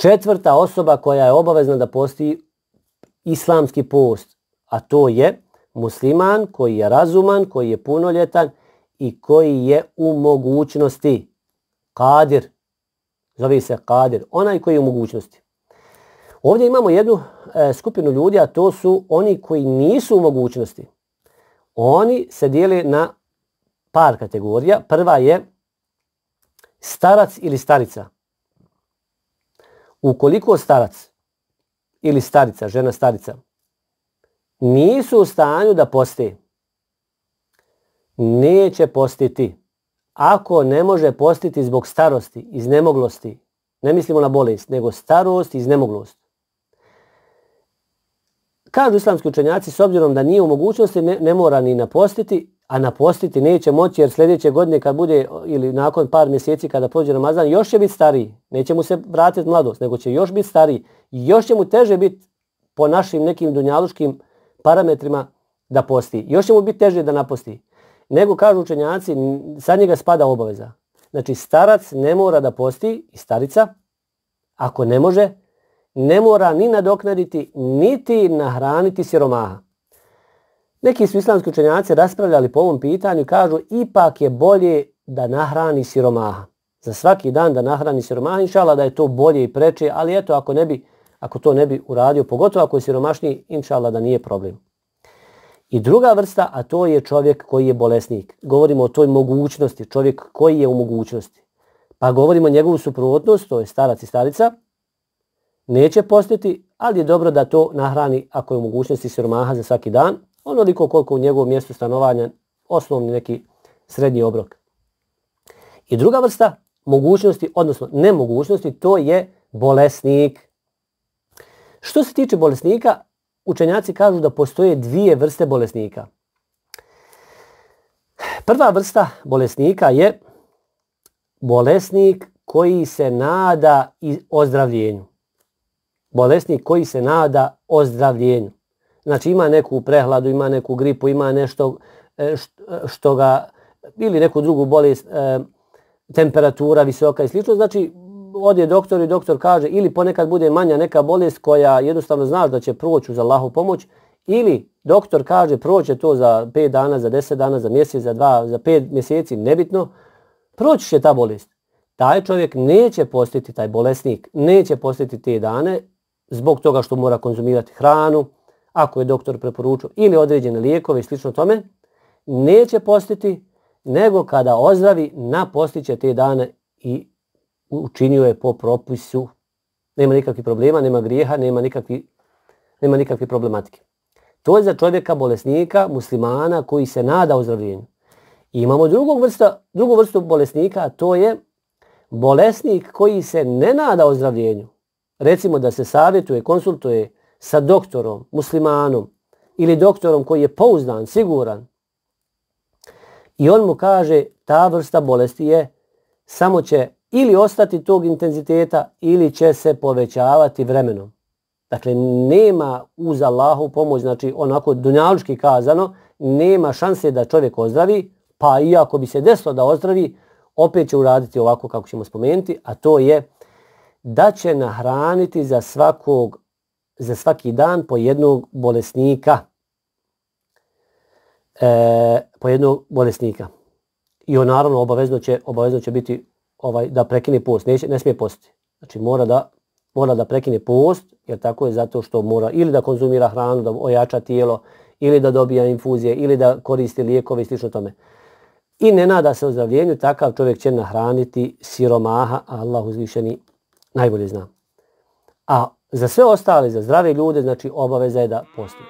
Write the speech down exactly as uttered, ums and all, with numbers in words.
četvrta osoba koja je obavezna da posti islamski post, a to je musliman koji je razuman, koji je punoljetan i koji je u mogućnosti. Kadir. Zove se kadir. Onaj koji je u mogućnosti. Ovdje imamo jednu e, skupinu ljudi, a to su oni koji nisu u mogućnosti. Oni se dijele na par kategorija. Prva je starac ili starica. Ukoliko starac ili starica, žena starica, nisu u stanju da poste, neće postiti. Ako ne može postiti zbog starosti, iznemoglosti, ne mislimo na bolest, nego starost i iznemoglost. Kažu islamski učenjaci, s obzirom da nije u mogućnosti, ne, ne mora ni napostiti, a napostiti neće moći jer sljedeće godine kad bude, ili nakon par mjeseci kada prođe Ramazan, još će biti stariji. Neće mu se vratiti mladost, nego će još biti stariji. Još će mu teže biti po našim nekim dunjaluškim parametrima da posti. Još će mu biti teže da naposti. Nego, kažu učenjaci, sad njega spada obaveza. Znači, starac ne mora da posti, i starica, ako ne može, ne mora ni nadoknaditi, niti nahraniti siromaha. Neki su islamski učenjaci raspravljali po ovom pitanju i kažu ipak je bolje da nahrani siromaha. Za svaki dan da nahrani siromaha, inšala da je to bolje i preče, ali eto, ako, ne bi, ako to ne bi uradio, pogotovo ako je siromašniji, inšala da nije problem. I druga vrsta, a to je čovjek koji je bolesnik. Govorimo o toj mogućnosti, čovjek koji je u mogućnosti. Pa govorimo o njegovu suprotnost, to je starac i starica, neće postiti, ali je dobro da to nahrani ako je u mogućnosti siromaha za svaki dan, onoliko koliko u njegovom mjestu stanovanja, osnovni neki srednji obrok. I druga vrsta mogućnosti, odnosno nemogućnosti, to je bolesnik. Što se tiče bolesnika, učenjaci kažu da postoje dvije vrste bolesnika. Prva vrsta bolesnika je bolesnik koji se nada ozdravljenju. Bolesnik koji se nada ozdravljenju. Znači ima neku prehladu, ima neku gripu, ima nešto što ga, ili neku drugu bolest, temperatura visoka i slično. Znači ode doktor i doktor kaže ili ponekad bude manja neka bolest koja jednostavno znaš da će proći uz Allahu pomoć, ili doktor kaže proće to za pet dana, za deset dana, za mjesec, za dva, za pet mjeseci, nebitno, proći će ta bolest. Taj čovjek neće postiti, taj bolesnik neće postiti te dane zbog toga što mora konzumirati hranu, ako je doktor preporučio, ili određene lijekove i slično tome, neće postiti, nego kada ozdravi, napostiće te dane i učinio je po propisu. Nema nikakvih problema, nema grijeha, nema nikakvi, nema nikakve problematike. To je za čovjeka bolesnika, muslimana koji se nada ozdravljenju. I imamo drugog vrsta, drugu vrstu bolesnika, a to je bolesnik koji se ne nada ozdravljenju. Recimo da se savjetuje, konsultuje sa doktorom, muslimanom ili doktorom koji je pouzdan, siguran. I on mu kaže ta vrsta bolesti je samo će ili ostati tog intenziteta ili će se povećavati vremenom. Dakle, nema uz Allahu pomoć, znači onako dunjalučki kazano, nema šanse da čovjek ozdravi, pa i ako bi se desilo da ozdravi, opet će uraditi ovako kako ćemo spomenuti, a to je da će nahraniti za svakog, za svaki dan po jednog bolesnika. E, po jednog bolesnika. I on naravno obavezno će, obavezno će biti ovaj, da prekine post, neće, ne smije postiti. Znači mora da, mora da prekine post, jer tako je zato što mora ili da konzumira hranu, da ojača tijelo, ili da dobija infuzije, ili da koristi lijekove i slično tome. I ne nada se ozdravljenju, takav čovjek će nahraniti siromaha, a Allah uzvišeni najbolje zna. A za sve ostale, za zdrave ljude, znači obaveza je da posti.